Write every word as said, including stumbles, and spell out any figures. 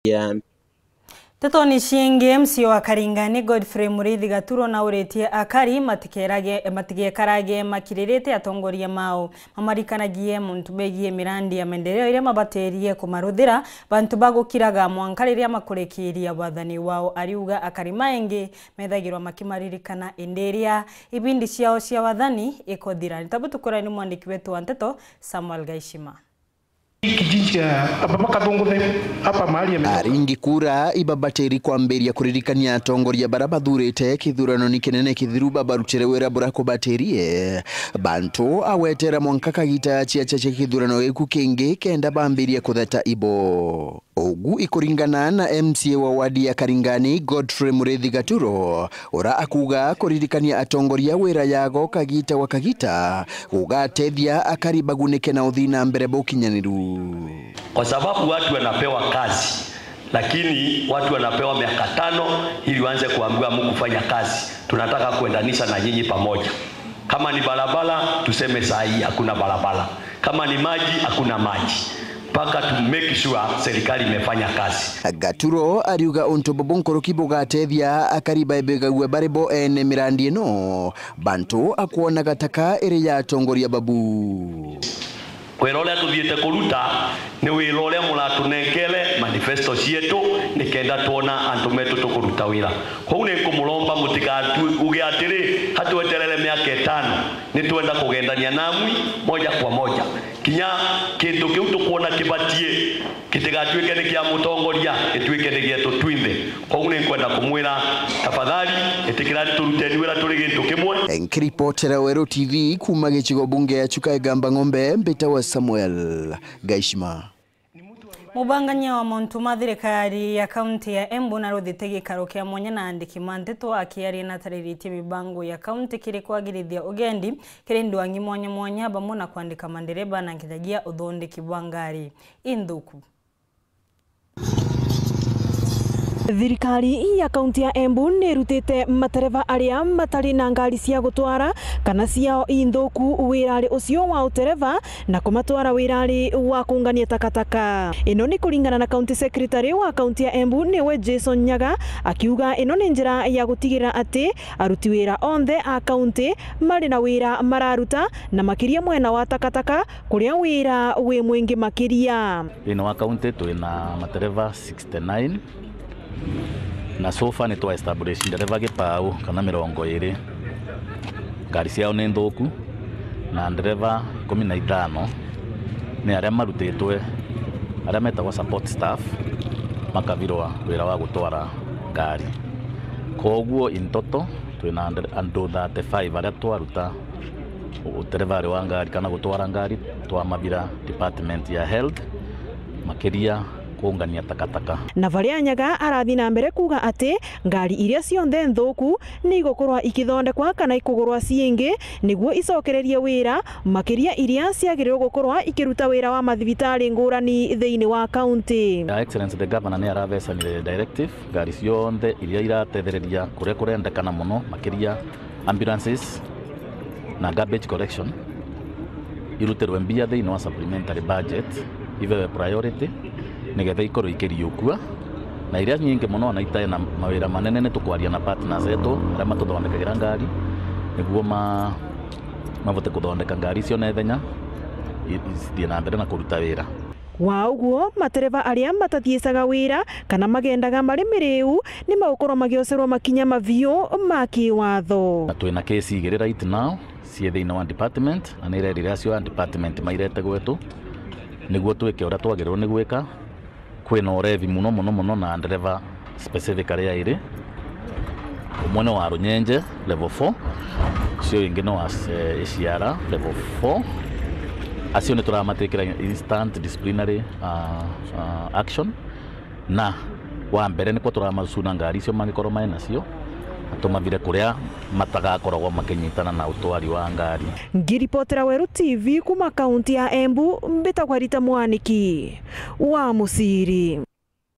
ya Ntetoni ciingi, M C A wa Karingani Godfrey Muriithi Gaturo nauritie akari matikerage-, matigekarage makiririte atongoria mao mamarikanagie muntu begie mirandi ya maendeleo iria mabatirie kumaruthira bantu bagukiraga mwanka riria makurikiria wathani wao. Ariuga akari maingi methagirwa makimaririkana indi iria ibindi ciao cia wathani ikuthira. Ni tabu tukurani mwandiki wetu wa nteto Samuel Gaishima. Kijiji ya Ababa Kathunguthe, hapa mahali ame- Aringi kura ibabatiri kwambiria kuririkania atongoria bara bathurite kithurano ni kinene kithiru babarutire wira bura kubatirie bantu agwetera mwanka kagita ciacha cia kithurano giku kingi kenda bambirie kutheta ibo. Ugu ikuringana na M C A wa wadi ya Karingani, Godfrey Muriithi Gaturo, ura akuuga kuririkania atongoria wira yago kagita gwa kagita gugatethia akari bagunike na uthii na mbere bukinyaniru. Kwa sababu watu wanapewa kazi, lakini watu wanapewa miaka tano ili waanze kuambiwa, "Hamkufanya kazi, tunataka kuendanisha na nyinyi pamoja." Kama ni barabara, tuseme saa hii hakuna barabara. Kama ni maji, hakuna maji. Mpaka to make sure serikali imefanya kazi. Gaturo ariuga untu bubu nkuruki bugatethia akari baibigagua bari bo ene mirandi ino, bantu akwona gataka iri ya atongoria babu. Wira uria tuthiite kuruta ni wira uria muratunenkere manifesto cietu, nikenda twona antu metu tukuruta wira. Kwou ni nkumuromba mutigatu-, uge atiri, hatweterere miaka itano, ni twenda kugendania namwi moja kwa moja. Kinya kintu kiu tukwona kibatie, gitigatuike ni kia mutongoria, gituike ni gietu twinthe. Kwou ni nkwenda kumwira, tafadhali, itikirani turuteni wira turi gintu kimwe. Nkiripotera Weru T V kuuma gicigo bunge ya Chuka Igamba Ng'ombe, mbitawa Samuel Gaishima. Mubangania wa mauntu ma thirikari ya kaunti ya Embu naruthite gikaro kia mwanya na andiki ma nteto akiaria natariritie mibango ya kaunti kiri kwagirithia ugendi kiri ndwangi mwanya mwanya, bamwe na kwandika mandereba na nkinyagia uthondeki bwa ngari inthuku. Thirikari ya kaunti ya Embu ni irutite matereba aria matari na ngari cia gutwara kana ciao inthuku wirari ucio wa utereba na kumatwara wirari wa kungania takataka. Ino ni kuringana na county secretary wa kaunti ya Embu niwe Jason Nyaga, akiuga ino ni njira ya gutigirira ati aruti wira onthe a kaunti mari na wira mararuta, na makiria mwena wa takataka kuria wira wi mwingi makiria. Thiini wa kaunti twina matereba sixty-nine, na so far ni twa establish ndereba gipau kana mirongo iri. Ngari ciao ni nthuku, na ndereba ikumi na ithano ni aria marutitwe, aria metagwa support staff, makabirwa wira wa gutwara ngari. Koguo in total twina ndere-, andu thirty-five aria twaruta uterevari wa ngari kana gutwara ngari, twamabira department ya health, makiria kuungania takataka. Na varia Nyaga arathi na mbere kuuga ati ngari iria cionthe nthuku ni igukorwa ikithondekwa kana ikugurwa ciingi niguo icokererie wira, makiria iria ciagiriirwe gukorwa ikiruta wira wa mathibitari ngurani thiini wa kaunti. Your Excellency the Governor ni aravecanire directive, ngari cionthe iria iratethereria kuria kurendekana mono, makiria ambulances na garbage collection, irutirwe mbia thiini wa supplementary budget, ivewe priority, nigetha ikorwe ikiriukua. Na iria nyingi mono ona itai na mawira manene, ni tukwaria na partners etu aria matuthondekagira ngari, niguo ma-, mavote kuthondeka ngari icio na ithenya, i-, cithie na mbere na kuruta wira. Wa uguo, matereba aria matathiicaga wira kana magendaga mari miriu ni magukorwa magiocerwa makinya maviu ma kiwatho. Na twina case igiri right now cii thiini wa department, na ni irerire acio a department mairete gwetu niguo twike uria twagirwe ni gwika. Kwina urevi muno, muno, muno na ndereba specifically airi. Umwe ni wa Runyenje level four, ucio wingi ni wa, eh, Iciara level four. Acio ni turamatikira instant disciplinary, ah, ah, action. Na wa mbere nikwo turamacuna ngari icio mangikorwo mai nacio, na tumavire kuria matagakoragwo makinyitana na utwari wa ngari. Ngiripotera Weru T V kuma kaunti ya Embu, mbitagwa Rita Mwaniki wa Muciri.